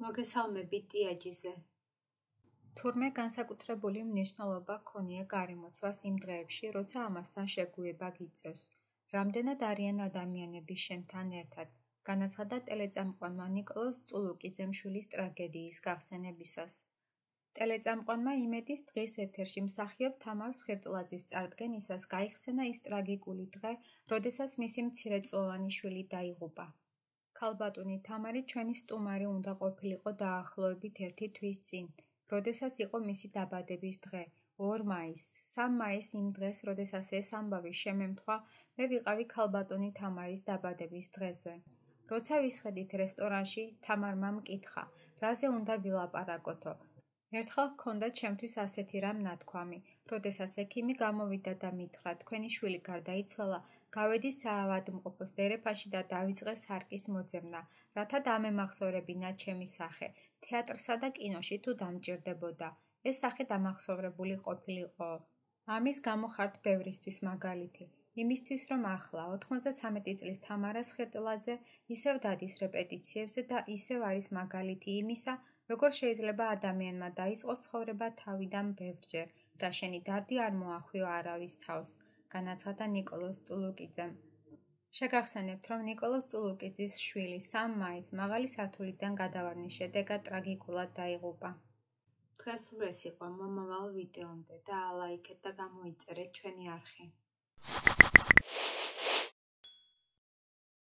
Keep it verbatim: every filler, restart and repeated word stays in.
მოგესალმებით ტიაჯიზე. თურმე განსაკუთრებული მნიშვნელობა ჰქონია გარემოცვას იმ დღეებში, როცა ამასთან შეგუება გიწევს. რამდენად არიან ადამიანები შენთან ერთად, განაცხადა ტელეწამყვანმა ნიკოლოზ წულუკიძემ შვილის ტრაგედიის გახსენებისას. ტელეწამყვანმა იმედის დღის ეთერში მსახიობ თამარ სხირტლაძის წარდგენისას გაიხსენა ის ტრაგიკული დღე, როდესაც მისი მცირეწლოვანი შვილი დაიღუპა. ქალბატონი თამარი ჩვენი სტუმარი უნდა ყოფილიყო დაახლოებით ერთი თვის წინ, როდესაც იყო მისი დაბადების დღე, ორ მაისს. სამ მაისს იმ დღეს, როდესაც ეს ამბავი შემემთხვა, მე ვიყავი ქალბატონი თამარის დაბადების დღეზე. როცა ვისხედით რესტორანში, თამარმა მკითხა, რაზე უნდა ვილაპარაკოთო. ერთხელ ჰქონდა ჩემთვის ასეთი რამ ნათქვამი, როდესაც ექიმი გამოვიდა და მითხრა, თქვენი შვილი გარდაიცვალა, გავედი საავადმყოფოს დერეფანში და დავიწყე სარკის მოძებნა, რათა დამემახსოვრებინა ჩემი სახე, თეატრსა და კინოში თუ დამჭირდებოდა. ეს სახე დამახსოვრებული ყოფილიყო. ამის გამო ხართ ბევრისთვის მაგალითი. იმისთვის, რომ ახლა, ოთხმოცდასამეტი წლის თამარა სხირტლაძე ისევ დადის რეპეტიციებზე და ისევ არის მაგალითი იმისა, როგორ შეიძლება ადამიანმა დაიწყოს ცხოვრება თავიდან ბევრჯერ და შენი დარდი არ მოახვიო არავის თავს, განაცხადა ნიკოლოზ წულუკიძემ. შეგახსენებთ, რომ ნიკოლოზ წულუკიძის შვილი სამ მაისს მაღალი სართულიდან გადავარდნის შედეგად ტრაგიკულად დაიღუპა. დღეს სულ ეს იყო მომავალ ვიდეომდე და ალაიქეთ და გამოიწერეთ ჩვენი არხი.